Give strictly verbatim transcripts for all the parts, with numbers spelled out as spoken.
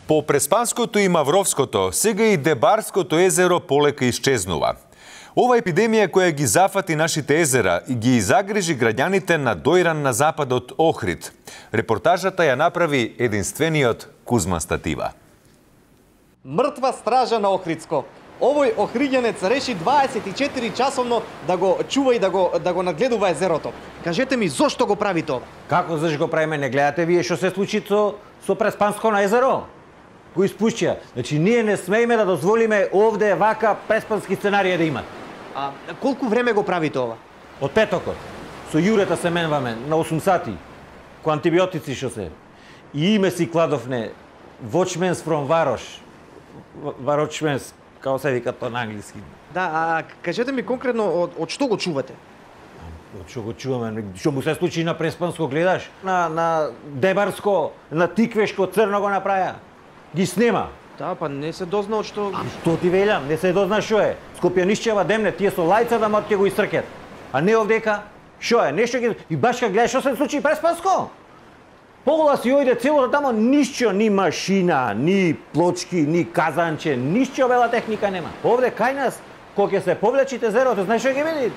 По Преспанското и Мавровското, сега и Дебарското езеро полека исчезнува. Ова епидемија која ги зафати нашите езера и ги загрижи граѓаните на Дојран на западот Охрид. Репортажата ја направи единствениот Кузма Статива. Мртва стража на Охридско. Овој охриѓанец реши дваесет и четири часовно да го чува и да го да го нагледува езерото. Кажете ми зошто го прави тоа? Како зашто го правиме? Не гледате вие што се случи со со Преспанско на езеро? Го испушчија. Значи ние не смееме да дозволиме овде вака преспански сценарија да имат. А колку време го прави тоа? Од петокот. Со јурета се менваме на осум сати. Ко антибиотици што се. И име си кладовне Watchmen's from Varoš. Varočmens, како се вика тоа на англиски. Да, а кажете ми конкретно од, од што го чувате? Од што го чуваме? Што му се случи на Преспанско, гледаш? На, на Дебарско, на Тиквешко, Црно го направија. Ги снема. Да, па не се дозна од што... А што ти велам? Не се дозна што е. Скопјанишчева демне, тие со лајца да мот ќе го истркет. А не овдека, што е? Нешто ги... И баш ка гледаш што се случи Преспанско? Погола си ојде целото тамо, ништо, ни машина, ни плочки, ни казанче, ништо бела техника нема. Овде кај нас, кога ќе се повлечите езерото, знаеш што ќе види?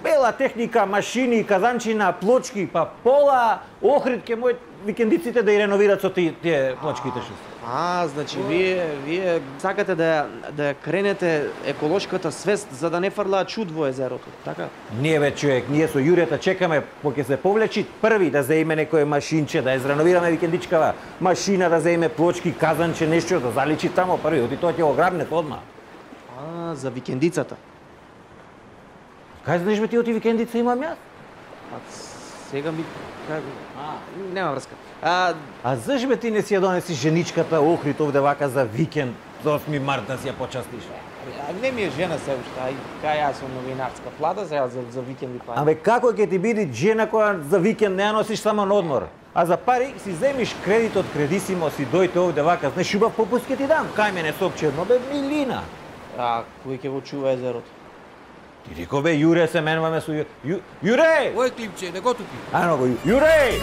Бела техника, машини, казанчина, плочки, па пола Охрид ќе мој викендиците да и реновират со тие, тие плочките што се. А, значи вие вие сакате да да кренете еколошката свест за да не фрлаат чуд во езерото, така? Не бе човек, ние со Јурета чекаме кога ќе се повлечи први да заеме некое машинче, да изреновираме викендичкава, машина да заеме плочки, казанче, нешто да заличи тамо први, оти тоа ќе го грабне одма. А, за викендицата. Кај знаеш бе ти оти викендица имам јас? А сега ми как... А, нема врска. А, а зашто бе ти не си ја донеси женичката Охрид овде вака за викенд, за осми март да си ја почастиш? А не ми е жена се уште, ај кај јас сум новинарска плата сега за за викенди па. Абе како ќе ти биде жена која за викенд не ја носиш само на одмор? А за пари си земиш кредит од Кредисимо, си дојте овде вака, знаеш убав попуст ќе ти дам. Кај мене сопче едно бе милина. А кој ќе го чува езерото? Ти реко бе Јуре се менуваме со Јуре. Јуре! Ој клипче, не го тупи. Ано го Јуре!